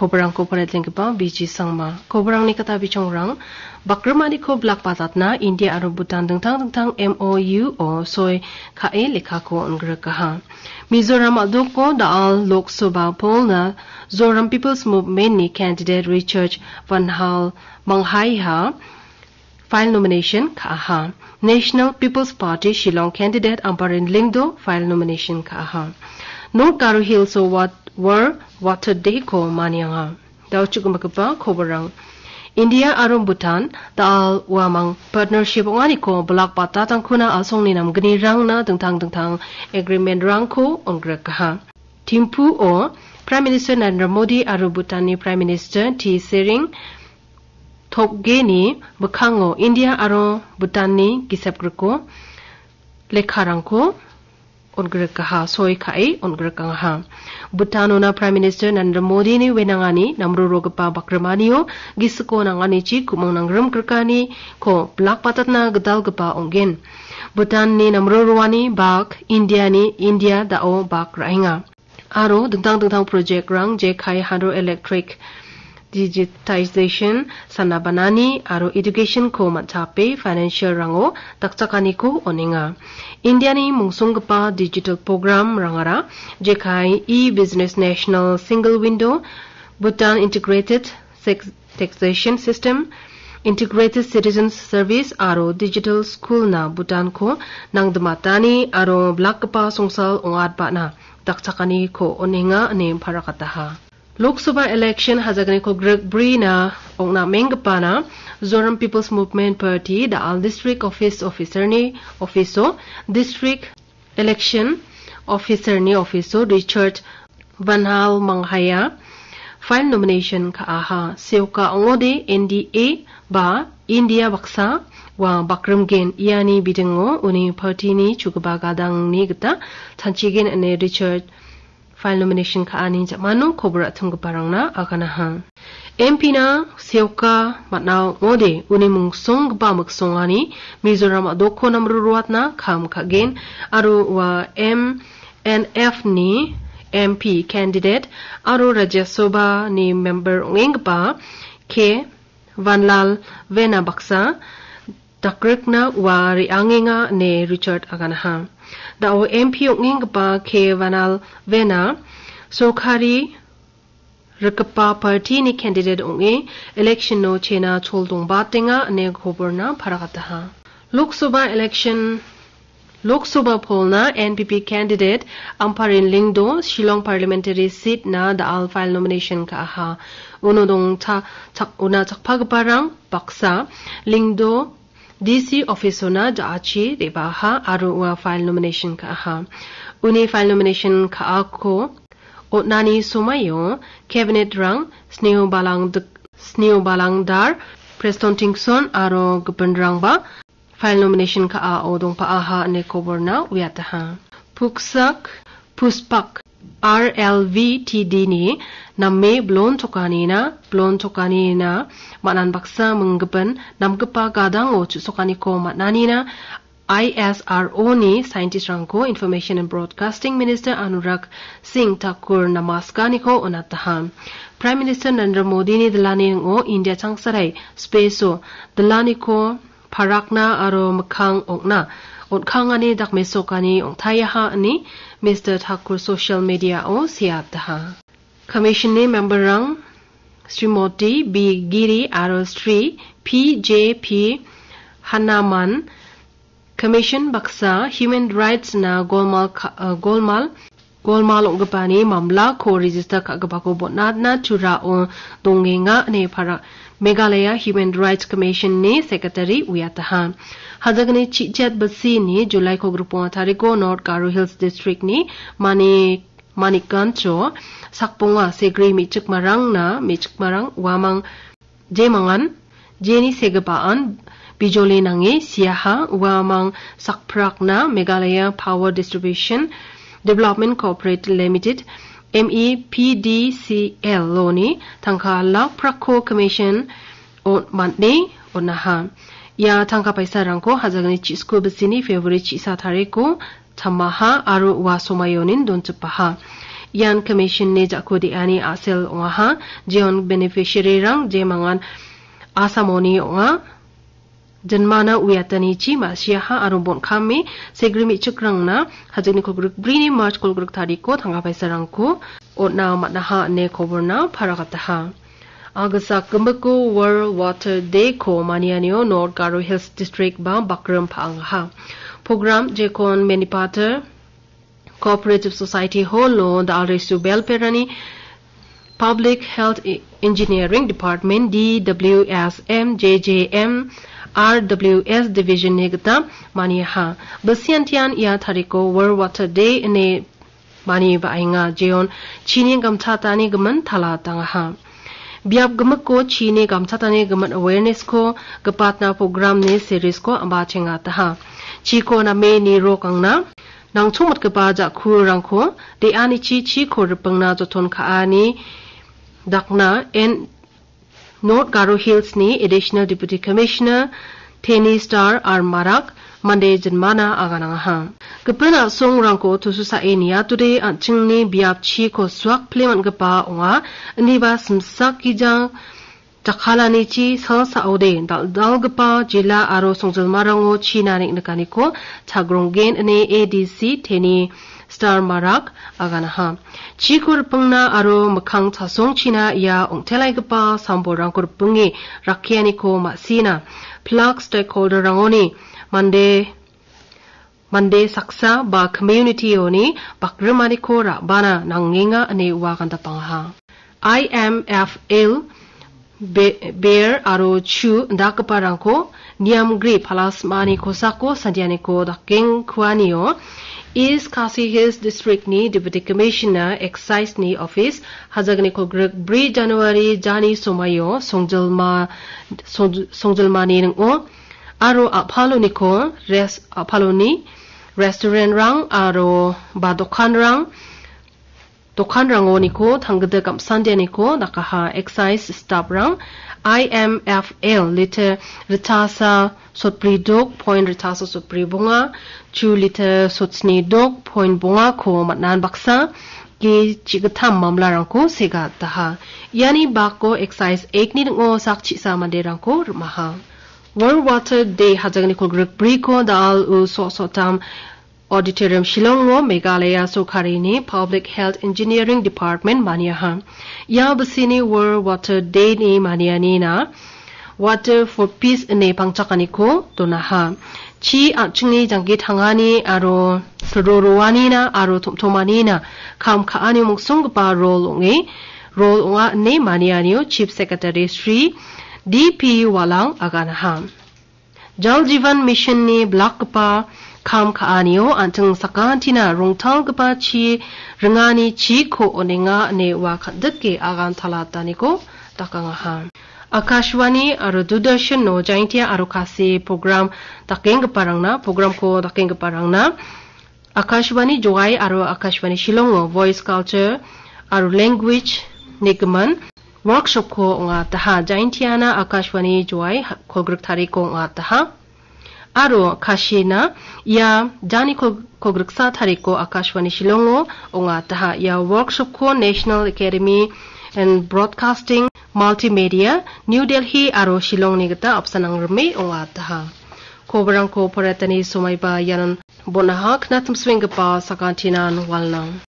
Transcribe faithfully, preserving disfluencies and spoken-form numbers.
Kobarangko paritenggipa B G Sangma. Kobarangni kata bichongrang, bakrimaniko blak batatna India aro Bhutan dingtang dingtang M O U o soi ka·e lekkako on·grikaha. Mizoram a·doko da·al Lok Sabha polna Zoram People's Movement-ni candidate Richard Van Hal Manghaiha file nomination ka·aha. National People's Party Shillong candidate Ampareen Lyngdoh file nomination ka·aha. North Garo Hills-o wat-, World Water Day-ko manianga. Dao chu·gimikgipa koborrang. India aro Bhutan da·al uamang partnership ong·aniko blak batatangkona a·songni namgnirangna dingtang dingtang agreement-rangko on·grikaha. Thimphu-o Prime Minister Narendra Modi aro Bhutan-ni Prime Minister T Sering Tobgeni mikkango India aro Bhutan-ni gisepgriko lekkarangko on·grikaha, soi ka·e on·grikangaha. Bhutan-ona Prime Minister Narendra Modi-ni wenangani namrorogipa bakrimanio gisiko nanganichi ku·mong nanggrimgrikaniko blak batatna gitalgipa ong·gen. Bhutan-ni namroroani bak India-ni India da·o bak ra·enga. Aro dingtang dingtang project-rang jekai hydroelectric, digitization, sana banani aro education-ko man·chape financial-rango dakchakaniko on·enga. India-ni mungsonggipa digital program-rangara jekai e-business national single window, Bhutan integrated sex-, taxation system, integrated citizens service aro digital school-na Bhutan-ko nangdimatani aro blakgipa songsal ong·atbana dakchakaniko on·enga ine parakataha. Lok Sabha election hajagniko grikbrina ong·namenggipana Zoram People's Movement Party da·al district office officer-ni office-o, district election officer-ni office-o Richard Van Hal Manghaya file nomination ka·aha. Seoka ong·ode N D A ba India baksa ua bakrimgen iani bidingo uni party-ni chugipa gadangni gita chanchigen ine Richard file nomination ka·ani ja·mano kobor a·tinggiparangna aganaha. M P-na seoka man·a ong·ode uni mungsonggipa miksongani Mizoram a·doko namroroatna kam ka·gen aro ua M N F-ni M P candidate aro Rajya Sabha-ni member ong·enggipa K Vanlalvena baksa dakrikna ua re·angenga ine Richard aganaha. Da·o M P ong·enggipa K Vanlalvena sorkari rikgipa party-ni candidate ong·e election-o chena chol dongbatenga ine koborna parakataha. Lok Sabha election Lok Sabha polna N P P candidate Ampareen Lyngdoh Shillong parliamentary seat-na da·al file nomination ka·aha. Uno dongcha-, chak-, una chakpagiparang baksa Lyngdoh D C office-ona ja·achi re·baaha aro ua file nomination ka·aha. Uni file nomination ka·ako on·ani somaio cabinet-rang Sneo Balang-, Sneo Balangdar, Preston Tynsong aro gipinrangba file nomination ka·ao dongpa·aha ine koborna uiataha. Puksak, Puspak, R L V T D-ni name blon chokanina, blon chokanina, man·an baksa minggipin namgipa gadango chu·sokaniko man·anina, I S R O-ni scientist-rangko Information and Broadcasting Minister Anurag Singh Thakur namaskaniko on·ataha. Prime Minister Narendra Modi-ni dilani ning·o India changsarai space-o dilaniko parakna aro mikkang ong·na on·kangani dakmesokani ong·taiaha ine Mister Thakur social media-o seataha. Commission-ni member-rang Srimoti B Giri aro Sri P J P Hanaman Commission baksa human rights-na golmal ka-, eh, golmal, golmal ong·gipani mamlako register ka·gipako bon·atna Turao dongenga ine para Meghalaya Human Rights Commission-ni secretary uiataha. Hajagni chijat basini July-ko griponga tariko North Garo Hills District-ni Mani-, Manikganjo sakbonga segri me·chikmarangna, me·chikmarang uamang jemangan, jeni segipaan bijoli nange siaha, uamang sakprakna Meghalaya Power Distribution Development Corporate Limited, M E P D C L-oni tangka lak prakko commission on-, man·e on·aha. Ia tangka paisarangko hajagni chisku bisini February chisa tariko tamaha aro ua somaionin donchipaha. Ian commission-ni ja·ko de·ani a·sel ong·aha, jeon beneficiary-rang jemangan Assamoni ong·a. Jinmana uiatanichi ma·siaha aro bon·kame segri me·chikrangna hajikni kolgrik brini March kolgrik tariko tangka paisarangko on·na man·aha ine koborna paragataha. Agisa gimiko World Water Day-ko manianio North Garo Hills District ba bakrim pa·angaha. Program jekon Menipater Cooperative Society Hall-o Dalresu Belperani Public Health E-, Engineering Department, D W S M, J J M, R W S Division-ni gita maniaha. Bisiantian ia tariko World Water Day ine mani ba·enga, jeon chini gamchatani gimin tala tangaha. Biap gimiko chini gamchatani gimin awareness-ko gipatna program-ni series-ko amba chengataha. Chiko name nirokangna nangchongmitgipa ja·kurangko de·anichi chiko ripingna joton ka·ani dakna en North Garo Hills-ni Additional Deputy Commissioner Teni Star R Marak mande jinmana aganangaha. Gipin a·songrangko tususae niatode an·chingni biapchiko suak pile man·gipa ong·a, indiba simsak gijang jakkalanichi salsaode dal·dalgipa jila aro songjilmarango china neng·nikaniko chagronggen ine A D C Teni Star Marak aganaha. Chiko ripingna aro mikkang chasongchina ia ong·telaigipa sambolrangko ripinge rakkianiko ma·sina. Pilak stakeholder-rangoni mande, mande saksa ba community-oni bakrimaniko ra·bana nangenga ine ua gandapangaha. I M F L Be-, Bear aro Chu indakgiparangko niamgri palasmani kosako santianiko dakengkuanio East Khasi Hills District-ni Deputy Commissioner Excise-ni office hajagni kolgrik bri January jani somaio songjilma-, song-, songjilmani ning·o aro a·paloniko res-, a·paloni restaurant-rang aro ba dokanrang dokanrangoniko tanggita gamsandianiko dakaha. Excise staff-rang I M F L liter ritasa sotbri dok point ritasa sotbri bonga, chu liter sotsni dok point bongako man·an baksa ge chigittam mamlarangko segataha. Iani bako Excise Act-ni ning·o sak chisa manderangko rim·aha. World Water Day hajagni kolgrik briko da·al u so·sotam Auditorium Shillongo Meghalaya Sorkarini Public Health Engineering Department maniaha. Ia bisini World Water Day-ni manianina Water for Peace ine pangchakaniko donaha. Chi an·chingni janggi tangani aro silro roanina aro tom·tomanina kam ka·ani mongsonggipa rol ong·e, rol ong·a ine manianio Chief Secretary Shri D P Walang aganaha. Jal Jeevan Mission-ni blakgipa kam ka·anio an·ching sakantina rongtalgipa chi ringani chiko on·enga ine ua kan·dike agan talataniko dakangaha. Akashvani aro Doordarshan-o Jaintia aro Khasi program dakenggiparangna, programko dakenggiparangna Akashvani Jowai aro Akashvani Shillongo Voice Culture aro Language nigimin workshop-ko ong·ataha. Jaintiana Akashvani Jowai ha-, kolgrik tariko ong·ataha. Aro Kashina ia jani kol-, kolgriksa tariko Akashvani Shillongo ong·ataha. Ia workshop-ko National Academy and Broadcasting Multimedia, New Delhi aro Shillongni gita apsan angrime ong·ataha. Kobarangko poretani somaiba ianon bon·aha, knatimsuenggipa sakantinan walnang.